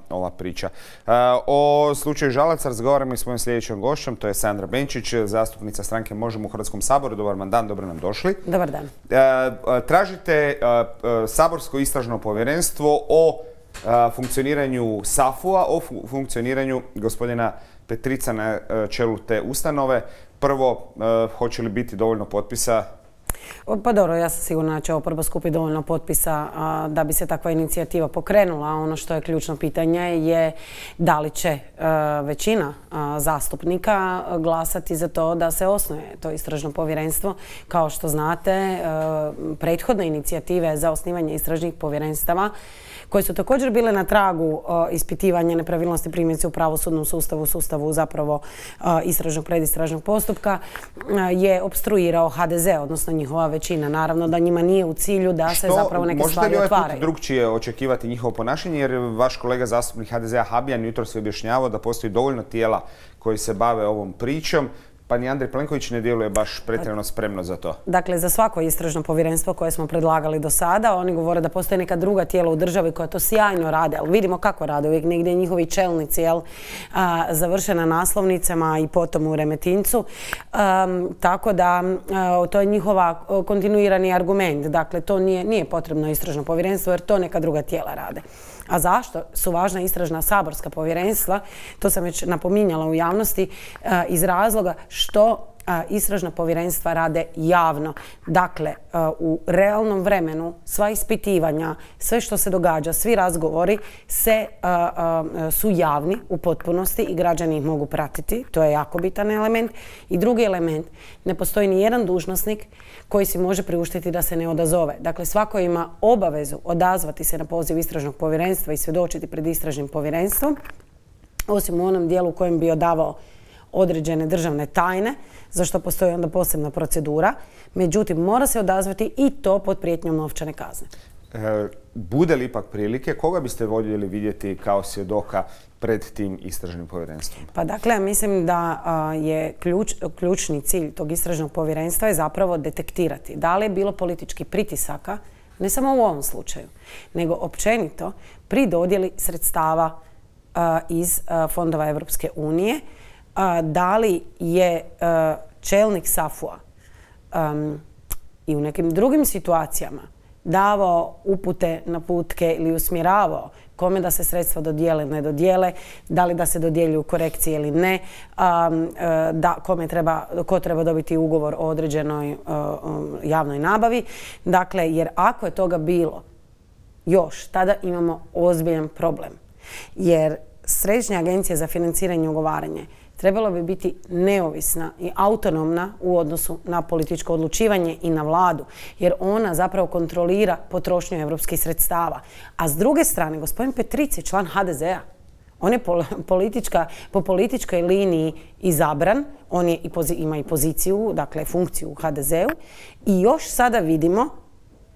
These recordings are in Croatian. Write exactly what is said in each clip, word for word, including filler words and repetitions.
ova priča. O slučaju Žalac razgovaramo i s mojim sljedećom gošćom, to je Sandra Benčić, zastupnica stranke Možemo u Hrvatskom saboru. Dobar vam dan, dobro nam došli. Dobar dan. Tražite saborsko istražno povjerenstvo o funkcioniranju SAFU-a, o funkcioniranju gospodina Petrica na čelu te ustanove. Prvo, hoće li biti dovoljno potpisa? Pa dobro, ja sam sigurna da će oporba skupiti dovoljno potpisa a, da bi se takva inicijativa pokrenula. Ono što je ključno pitanje je da li će a, većina a, zastupnika glasati za to da se osnuje to istražno povjerenstvo. Kao što znate, a, prethodne inicijative za osnivanje istražnih povjerenstava koje su također bile na tragu a, ispitivanja nepravilnosti primjerice u pravosudnom sustavu, sustavu zapravo a, istražnog predistražnog postupka, a, je opstruirao ha de ze, odnosno njihova većina. Naravno da njima nije u cilju da se zapravo neke stvari otvaraju. Možete li ovaj put drugčije očekivati njihovo ponašanje, jer vaš kolega zastupnik ha de zea Habijan jutros je objašnjavao da postoji dovoljno tijela koji se bave ovom pričom, pa ni Andrej Plenković ne djeluje baš pretjerano spremno za to. Dakle, za svako istražno povjerenstvo koje smo predlagali do sada, oni govore da postoje neka druga tijela u državi koja to sjajno rade, ali vidimo kako rade, uvijek negdje njihovi čelnici jel, a, završe na naslovnicama i potom u Remetincu. A, tako da a, to je njihova kontinuirani argument. Dakle, to nije, nije potrebno istražno povjerenstvo jer to neka druga tijela rade. A zašto su važna istražna saborska povjerenstva? To sam već napominjala u javnosti iz razloga što istražna povjerenstva rade javno. Dakle, u realnom vremenu sva ispitivanja, sve što se događa, svi razgovori se, su javni u potpunosti i građani ih mogu pratiti. To je jako bitan element. I drugi element, ne postoji ni jedan dužnosnik koji si može priuštiti da se ne odazove. Dakle, svako ima obavezu odazvati se na poziv istražnog povjerenstva i svjedočiti pred istražnim povjerenstvom, osim u onom dijelu u kojem bi odavao određene državne tajne, za što postoji onda posebna procedura. Međutim, mora se odazvati i to pod prijetnjom novčane kazne. E, bude li ipak prilike, koga biste voljeli vidjeti kao svjedoka pred tim istražnim povjerenstvom? Pa dakle, mislim da a, je ključ, ključni cilj tog istražnog povjerenstva je zapravo detektirati da li je bilo političkih pritisaka, ne samo u ovom slučaju, nego općenito pri dodjeli sredstava a, iz a, fondova Europske unije, a, da li je a, čelnik SAFU-a um, i u nekim drugim situacijama davao upute, naputke ili usmjeravao kome da se sredstva dodijele, ne dodijele, da li da se dodjeljuju korekcije ili ne, um, da kome treba, ko treba dobiti ugovor o određenoj um, javnoj nabavi. Dakle, jer ako je toga bilo još, tada imamo ozbiljan problem. Jer Središnja agencija za financiranje i ugovaranje trebalo bi biti neovisna i autonomna u odnosu na političko odlučivanje i na vladu, jer ona zapravo kontrolira potrošnju europskih sredstava. A s druge strane, gospodin Petric je član ha de zea. On je politička, po političkoj liniji izabran, on je i pozi, ima i poziciju, dakle funkciju u ha de zeu i još sada vidimo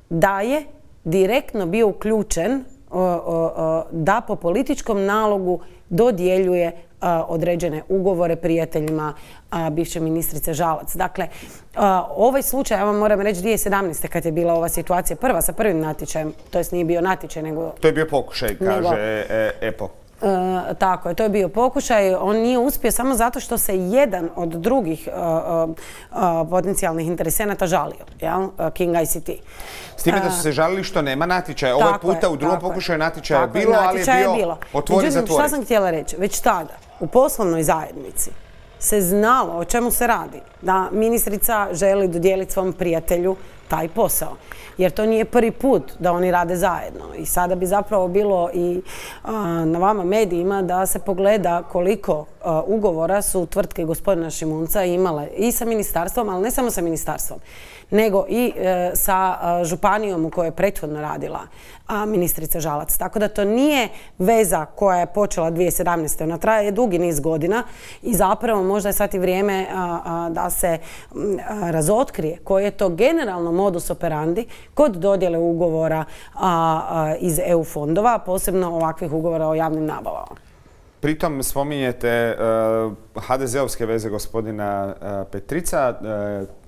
da je direktno bio uključen o, o, o, da po političkom nalogu dodjeljuje a, određene ugovore prijateljima a, bivše ministrice Žalac. Dakle, a, ovaj slučaj, ja vam moram reći, dvije tisuće sedamnaeste. kad je bila ova situacija prva sa prvim natječajem, to jest nije bio natječaj, nego... To je bio pokušaj, kaže nego, e, EPO. E, tako je, to je bio pokušaj. On nije uspio samo zato što se jedan od drugih a, a, potencijalnih interesenata žalio, jel? King i ce te. S time da su se žalili što nema natječaja. Ovaj puta u drugom pokušaju natječaja je bilo, ali je bio, bio. otvori, Međutim, zatvori. Šta sam htjela reći? Već tada, u poslovnoj zajednici, se znalo o čemu se radi. Da ministrica želi dodijeliti svom prijatelju taj posao. Jer to nije prvi put da oni rade zajedno. I sada bi zapravo bilo i a, na vama medijima da se pogleda koliko a, ugovora su tvrtke gospodina Šimunca imale i sa ministarstvom, ali ne samo sa ministarstvom, nego i e, sa a, županijom u kojoj je prethodno radila a, ministrica Žalac. Tako da to nije veza koja je počela dvije tisuće sedamnaeste. Ona traje dugi niz godina i zapravo možda je sad i vrijeme a, a, da se a, razotkrije koji je to generalno modus operandi kod dodjele ugovora a, a, iz e u fondova, posebno ovakvih ugovora o javnim nabavama. Pritom spominjete uh, ha de zeovske veze gospodina uh, Petrica.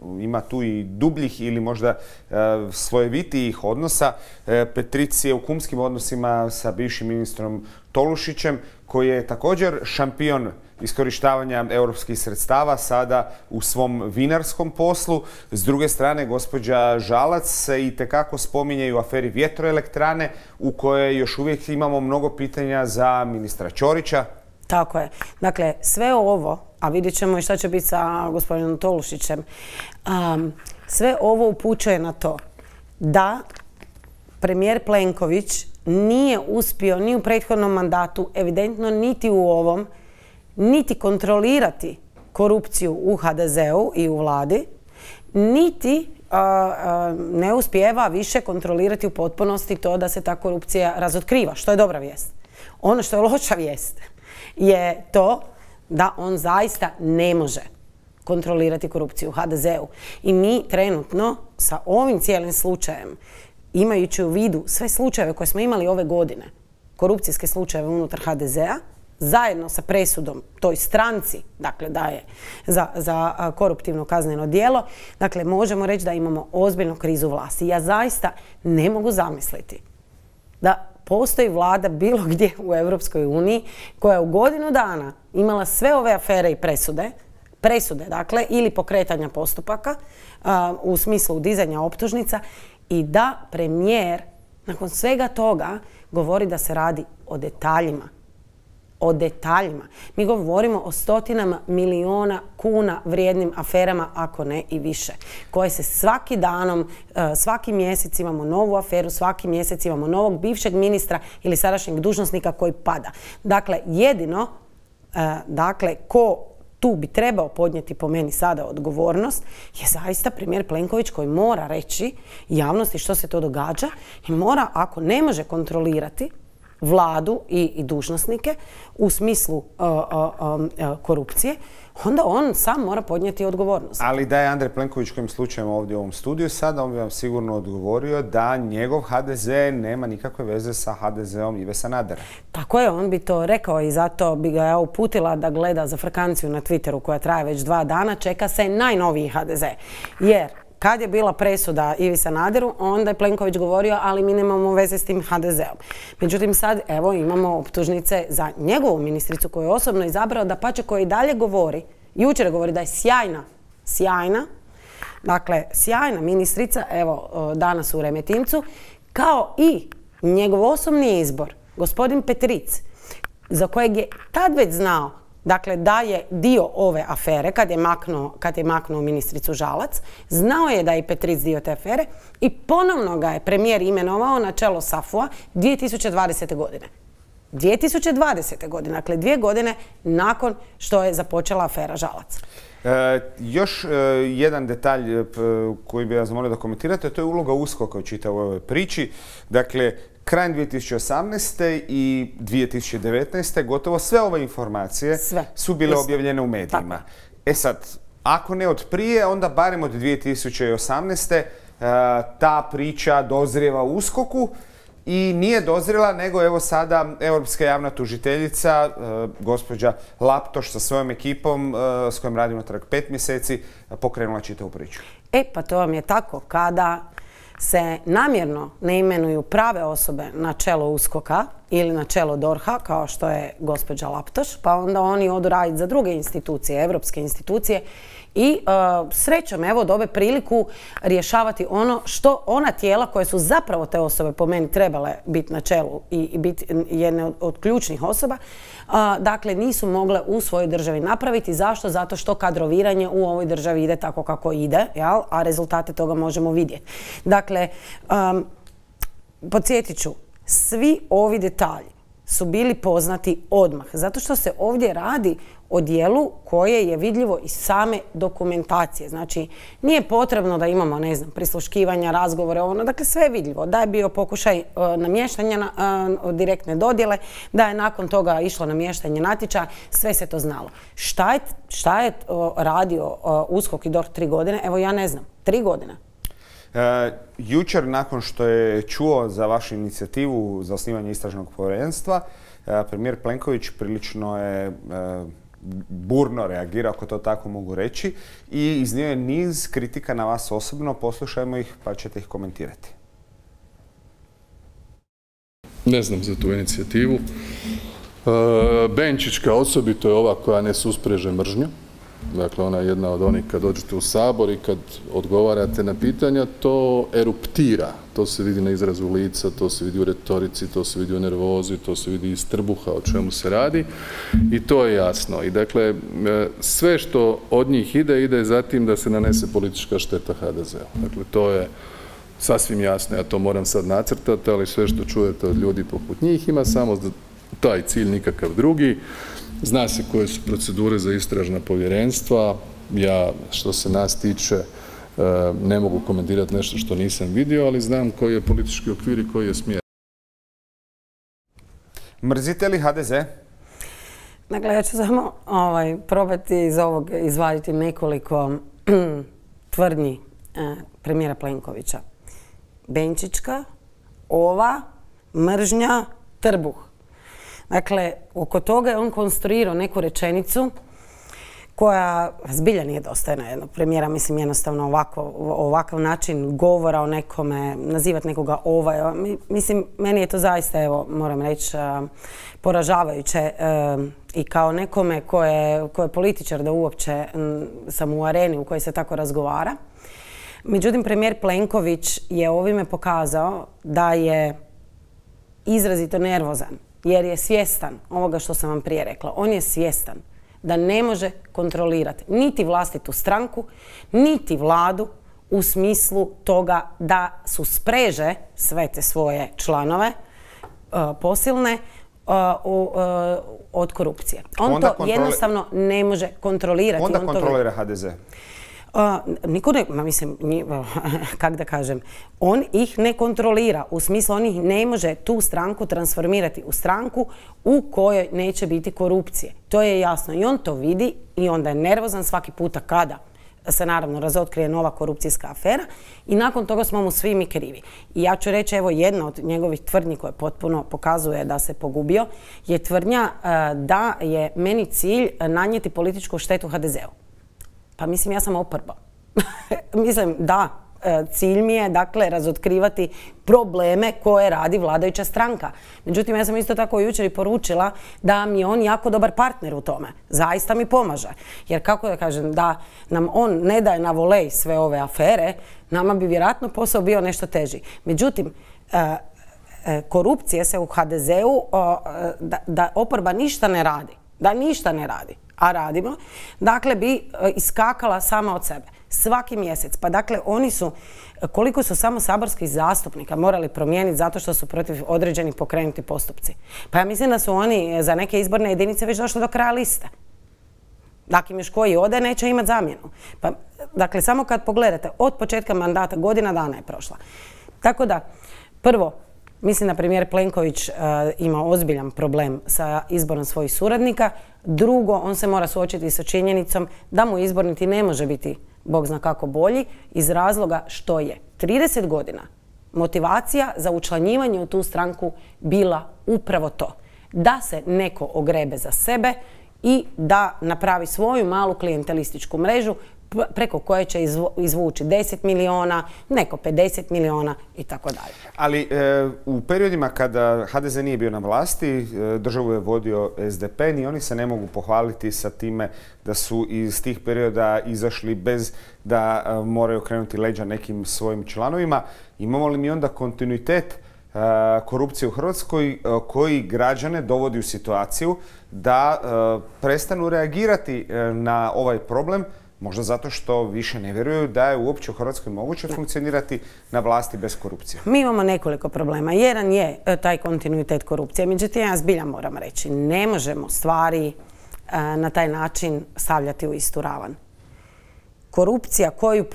Uh, ima tu i dubljih ili možda uh, slojevitijih odnosa. Uh, Petric je u kumskim odnosima sa bivšim ministrom Tolušićem, koji je također šampion iskorištavanja europskih sredstava sada u svom vinarskom poslu. S druge strane, gospođa Žalac se itekako spominje i u aferi vjetroelektrane, u kojoj još uvijek imamo mnogo pitanja za ministra Ćorića. Tako je. Dakle, sve ovo, a vidjet ćemo i šta će biti sa gospodinom Tolušićem, um, sve ovo upućuje na to da premijer Plenković nije uspio ni u prethodnom mandatu, evidentno niti u ovom, niti kontrolirati korupciju u ha de zeu i u vladi, niti uh, uh, ne uspijeva više kontrolirati u potpunosti to da se ta korupcija razotkriva, što je dobra vijest. Ono što je loša vijest je to da on zaista ne može kontrolirati korupciju u ha de zeu. I mi trenutno sa ovim cijelim slučajem, imajući u vidu sve slučajeve koje smo imali ove godine, korupcijske slučajeve unutar ha de zea, zajedno sa presudom toj stranci, dakle da je za, za koruptivno kazneno djelo, dakle možemo reći da imamo ozbiljnu krizu vlasti. Ja zaista ne mogu zamisliti da postoji vlada bilo gdje u Europskoj uniji koja je u godinu dana imala sve ove afere i presude, presude dakle, ili pokretanja postupaka uh, u smislu dizanja optužnica i da premijer nakon svega toga govori da se radi o detaljima. O detaljima. Mi govorimo o stotinama miliona kuna vrijednim aferama, ako ne i više, koje se svaki danom, svaki mjesec imamo novu aferu, svaki mjesec imamo novog bivšeg ministra ili sadašnjeg dužnosnika koji pada. Dakle, jedino, dakle, ko tu bi trebao podnijeti po meni sada odgovornost je zaista premijer Plenković koji mora reći javnosti što se to događa i mora, ako ne može kontrolirati vladu i, i dužnosnike u smislu uh, uh, uh, korupcije, onda on sam mora podnijeti odgovornost. Ali da je Andrej Plenković kojim slučajem ovdje u ovom studiju sada, on bi vam sigurno odgovorio da njegov ha de ze nema nikakve veze sa ha de zeom Ive Sanadera. Tako je, on bi to rekao i zato bi ga ja uputila da gleda za frkanciju na Twitteru koja traje već dva dana, čeka se najnoviji ha de ze. Jer kad je bila presuda Ivi Sanaderu, onda je Plenković govorio, ali mi nemamo veze s tim ha de zeom. Međutim, sad evo imamo optužnice za njegovu ministricu koju je osobno izabrao, da pače koji dalje govori, jučer govori da je sjajna, sjajna, dakle sjajna ministrica, evo danas u Remetincu, kao i njegov osobni izbor, gospodin Petric, za kojeg je tad već znao dakle da je dio ove afere, kad je maknuo, kad je maknuo ministricu Žalac, znao je da je i Petric dio te afere i ponovno ga je premijer imenovao na čelo SAFU-a dvije tisuće dvadesete. godine. dvije tisuće dvadesete. godine, dakle dvije godine nakon što je započela afera Žalac. E, još e, jedan detalj e, koji bih vas molio da komentirate, to je uloga USKOK-a u čitavoj ovoj priči. Dakle, krajem dvije tisuće osamnaeste. i dvije tisuće devetnaeste. gotovo sve ove informacije sve. su bile Isto. objavljene u medijima. Tako. E sad, ako ne od prije, onda barem od dvije tisuće osamnaeste. E, ta priča dozrijeva u USKOK-u i nije dozrela, nego evo sada europska javna tužiteljica, e, gospođa Laptoš sa svojom ekipom e, s kojom radimo natrag pet mjeseci, pokrenula čitavu priču. E pa to vam je tako kada se namjerno ne imenuju prave osobe na čelo USKOK-a ili na čelo DORH-a, kao što je gospođa Laptoš, pa onda oni odu raditi za druge institucije, evropske institucije i uh, srećom evo dobe priliku rješavati ono što ona tijela koje su zapravo te osobe po meni trebale biti na čelu i, i biti jedne od, od ključnih osoba, uh, dakle nisu mogle u svojoj državi napraviti. Zašto? Zato što kadroviranje u ovoj državi ide tako kako ide, jel? A rezultate toga možemo vidjeti. Dakle, um, podsjetit ću, svi ovi detalji su bili poznati odmah, zato što se ovdje radi o dijelu koje je vidljivo iz same dokumentacije. Znači, nije potrebno da imamo, ne znam, prisluškivanja, razgovore, ono, dakle sve je vidljivo. Da je bio pokušaj uh, namještanja na, uh, direktne dodjele, da je nakon toga išlo namještanje natječaja, sve se to znalo. Šta je, šta je uh, radio uh, USKOK i DORH tri godine? Evo ja ne znam, tri godine. E, jučer, nakon što je čuo za vašu inicijativu za osnivanje istražnog povjerenstva, e, premijer Plenković prilično je e, burno reagirao, ako to tako mogu reći, i iznio je niz kritika na vas osobno. Poslušajmo ih pa ćete ih komentirati. Ne znam za tu inicijativu. Benčićka osobito je ova koja ne suspreže mržnju. Dakle, ona je jedna od onih kad dođete u Sabor i kad odgovarate na pitanja, to eruptira. To se vidi na izrazu lica, to se vidi u retorici, to se vidi u nervozi, to se vidi iz trbuha o čemu se radi i to je jasno. I dakle, sve što od njih ide, ide za tim da se nanese politička šteta ha de zeu. Dakle, to je sasvim jasno, ja to moram sad nacrtati, ali sve što čujete od ljudi poput njih ima samo taj cilj, nikakav drugi. Zna se koje su procedure za istražna povjerenstva. Ja, što se nas tiče, ne mogu komentirati nešto što nisam vidio, ali znam koji je politički okvir i koji je smjer. Mrzite li ha de ze? Dakle, ja ću samo ovaj, probati iz ovog izvaditi nekoliko tvrdnji eh, premijera Plenkovića. Benčićka, ova, mržnja, trbuh. Dakle, oko toga je on konstruirao neku rečenicu koja zbilja nije dostojna jednog premijera. Mislim, jednostavno ovako, ovakav način govora o nekome, nazivati nekoga ovaj. Mislim, meni je to zaista, evo, moram reći, poražavajuće. I kao nekome ko je, ko je političar da uopće sam u areni u kojoj se tako razgovara. Međutim, premijer Plenković je ovime pokazao da je izrazito nervozan. Jer je svjestan ovoga što sam vam prije rekla. On je svjestan da ne može kontrolirati niti vlastitu stranku, niti vladu u smislu toga da su spreže sve te svoje članove uh, posilne uh, uh, od korupcije. On onda to kontroli... jednostavno ne može kontrolirati. Onda on kontrolira to... ha de ze. Uh, niko ne, ma mislim, kak da kažem, on ih ne kontrolira, u smislu on ih ne može tu stranku transformirati u stranku u kojoj neće biti korupcije. To je jasno i on to vidi i onda je nervozan svaki puta kada se naravno razotkrije nova korupcijska afera i nakon toga smo mu svi mi krivi. I ja ću reći, evo, jedna od njegovih tvrdnji koje potpuno pokazuje da se pogubio je tvrdnja uh, da je meni cilj nanijeti političku štetu ha de zeu. Pa mislim, ja sam oporba. Mislim, da, cilj mi je, dakle, razotkrivati probleme koje radi vladajuća stranka. Međutim, ja sam isto tako jučer i poručila da mi je on jako dobar partner u tome. Zaista mi pomaže. Jer kako da kažem, da nam on ne daje na volej sve ove afere, nama bi vjerojatno posao bio nešto teži. Međutim, korupcije se u ha de zeu, da, da oporba ništa ne radi. Da ništa ne radi. A radimo, dakle bi iskakala sama od sebe. Svaki mjesec. Pa dakle, oni su, koliko su samo saborskih zastupnika morali promijeniti zato što su protiv određenih pokrenuti postupci. Pa ja mislim da su oni za neke izborne jedinice već došli do kraja liste. Dakle, još koji ode neće imati zamjenu. Pa, dakle, samo kad pogledate, od početka mandata godina dana je prošla. Tako da, prvo, mislim da premijer Plenković uh, ima ozbiljan problem sa izborom svojih suradnika. Drugo, on se mora suočiti sa činjenicom da mu izbor niti ne može biti bog zna kako bolji iz razloga što je trideset godina motivacija za učlanjivanje u tu stranku bila upravo to. Da se neko ogrebe za sebe i da napravi svoju malu klijentelističku mrežu preko koje će izvući deset miliona, neko pedeset miliona i tako dalje. Ali e, u periodima kada ha de ze nije bio na vlasti, e, državu je vodio es de pe, ni oni se ne mogu pohvaliti sa time da su iz tih perioda izašli bez da e, moraju krenuti leđa nekim svojim članovima. Imamo li mi onda kontinuitet e, korupcije u Hrvatskoj e, koji građane dovodi u situaciju da e, prestanu reagirati e, na ovaj problem? Možda zato što više ne vjeruju da je uopće u Hrvatskoj moguće funkcionirati na vlasti bez korupcije. Mi imamo nekoliko problema. Jedan je taj kontinuitet korupcije. Međutim, ja zbilja moram reći, ne možemo stvari na taj način stavljati u istu ravan. Korupcija koju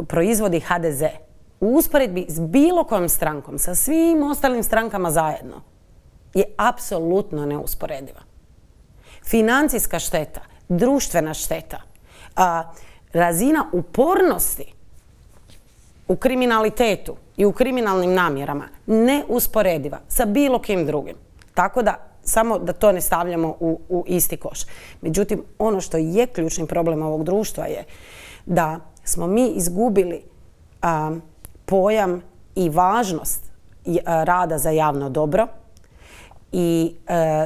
proizvodi ha de ze u usporedbi s bilo kojom strankom, sa svim ostalim strankama zajedno, je apsolutno neusporediva. Financijska šteta, društvena šteta, a, razina upornosti u kriminalitetu i u kriminalnim namjerama neusporediva sa bilo kim drugim. Tako da, samo da to ne stavljamo u, u isti koš. Međutim, ono što je ključni problem ovog društva je da smo mi izgubili a, pojam i važnost a, rada za javno dobro, i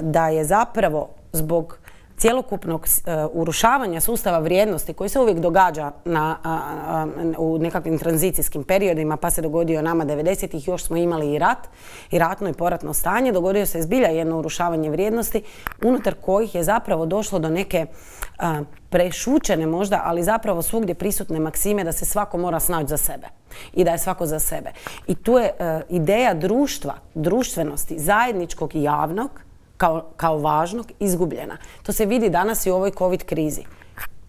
da je zapravo zbog cjelokupnog urušavanja sustava vrijednosti koji se uvijek događa na, a, a, u nekakvim tranzicijskim periodima, pa se dogodio nama devedesetih, još smo imali i rat, i ratno i poratno stanje, dogodio se zbilja jedno urušavanje vrijednosti unutar kojih je zapravo došlo do neke a, prešućene možda, ali zapravo svugdje prisutne maksime da se svako mora snaći za sebe i da je svako za sebe. I tu je a, ideja društva, društvenosti, zajedničkog i javnog, Kao, kao važnog, izgubljena. To se vidi danas i u ovoj COVID krizi.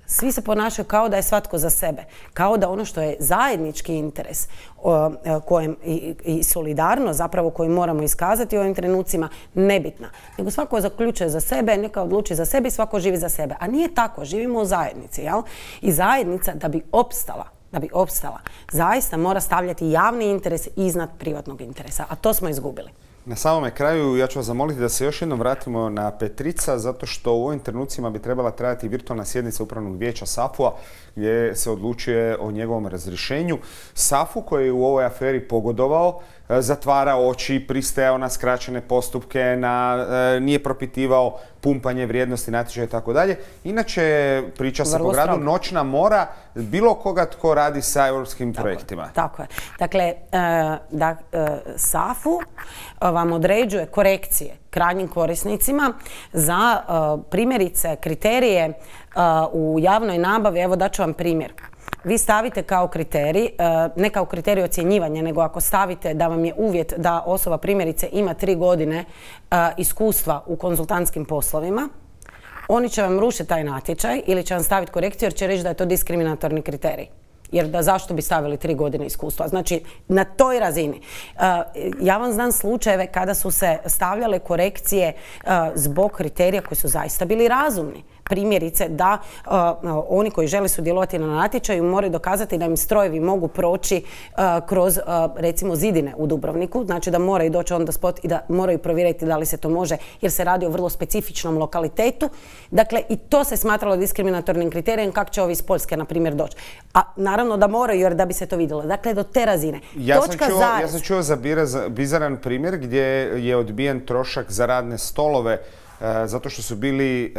Svi se ponašaju kao da je svatko za sebe. Kao da ono što je zajednički interes o, kojem, i, i solidarno zapravo koju moramo iskazati u ovim trenucima nebitna. Nego svako zaključuje za sebe, neka odluči za sebe i svako živi za sebe. A nije tako. Živimo u zajednici. Jel? I zajednica da bi opstala, da bi opstala, zaista mora stavljati javni interes iznad privatnog interesa. A to smo izgubili. Na samome kraju ja ću vas zamoliti da se još jednom vratimo na Petrica, zato što u ovim trenucima bi trebala trajati virtualna sjednica Upravnog vijeća SAFU-a gdje se odlučuje o njegovom razrješenju. SAFU koji je u ovoj aferi pogodovao, zatvara oči, pristajao na skraćene postupke, na, nije propitivao pumpanje vrijednosti natječaja i tako dalje. Inače, priča se po gradu noćna mora bilo koga tko radi sa europskim tako projektima. Je, tako je. Dakle, da, SAFU vam određuje korekcije krajnjim korisnicima za primjerice kriterije u javnoj nabavi. Evo daću vam primjer. Vi stavite kao kriterij, ne kao kriterij ocjenjivanja, nego ako stavite da vam je uvjet da osoba primjerice ima tri godine iskustva u konzultantskim poslovima, oni će vam rušiti taj natječaj ili će vam staviti korekciju jer će reći da je to diskriminatorni kriterij. Jer da zašto bi stavili tri godine iskustva? Znači, na toj razini. Ja vam znam slučajeve kada su se stavljale korekcije zbog kriterija koji su zaista bili razumni. Primjerice da uh, oni koji žele sudjelovati na natječaju moraju dokazati da im strojevi mogu proći uh, kroz uh, recimo zidine u Dubrovniku, znači da moraju doći on the spot i da moraju provjeriti da li se to može jer se radi o vrlo specifičnom lokalitetu. Dakle, i to se smatralo diskriminatornim kriterijem kako će ovi iz Poljske, na primjer, doći. A naravno da moraju jer da bi se to vidjelo. Dakle, do te razine. Ja sam čuo, ja sam čuo za bizaran primjer gdje je odbijen trošak za radne stolove zato što su bili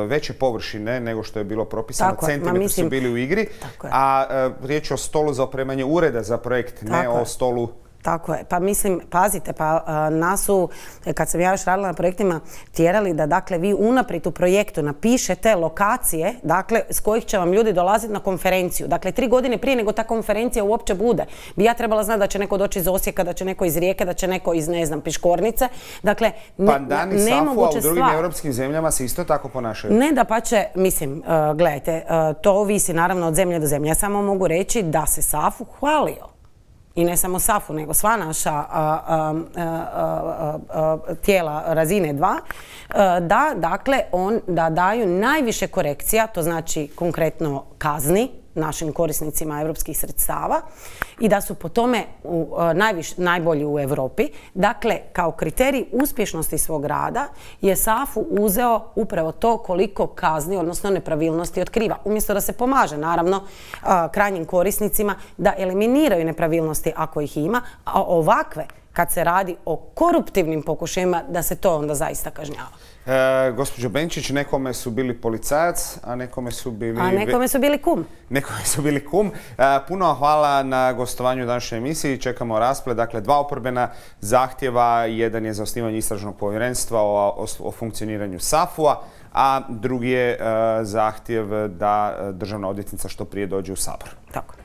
veće površine nego što je bilo propisano, centimetri su bili u igri, a riječ je o stolu za opremanje ureda za projekt, ne o stolu... Tako je. Pa mislim, pazite, pa nas su, kad sam ja još radila na projektima, tjerali da dakle vi unaprijed u projektu napišete lokacije, dakle s kojih će vam ljudi dolaziti na konferenciju. Dakle, tri godine prije nego ta konferencija uopće bude. Bi ja trebala znati da će neko doći iz Osijeka, da će neko iz Rijeke, da će neko iz, ne znam, Piškornice. Dakle, ne, pa Dani SAFU-a u drugim europskim zemljama se isto tako ponašaju? Ne, da pa će, mislim, uh, gledajte, uh, to ovisi naravno od zemlje do zemlje. Ja samo mogu reći da se SAFU hvalio. I ne samo SAFU, nego sva naša a, a, a, a, tijela razine dva, da, dakle, on, da daju najviše korekcija, to znači konkretno kazni našim korisnicima europskih sredstava i da su po tome u, najviš, najbolji u Europi. Dakle, kao kriterij uspješnosti svog rada je SAFU uzeo upravo to koliko kazni, odnosno nepravilnosti otkriva. Umjesto da se pomaže, naravno, krajnjim korisnicima da eliminiraju nepravilnosti ako ih ima, a ovakve, kad se radi o koruptivnim pokušajima, da se to onda zaista kažnjava. E, gospođo Benčić, nekome su bili policajac, a nekome su bili... A nekome su bili kum. Nekome su bili kum. E, puno hvala na gostovanju u današnjoj emisiji. Čekamo rasplet. Dakle, dva oporbena zahtjeva. Jedan je za osnivanje istražnog povjerenstva o, o, o funkcioniranju SAFU-a, a drugi je e, zahtjev da državna odvjetnica što prije dođe u Sabor. Tako.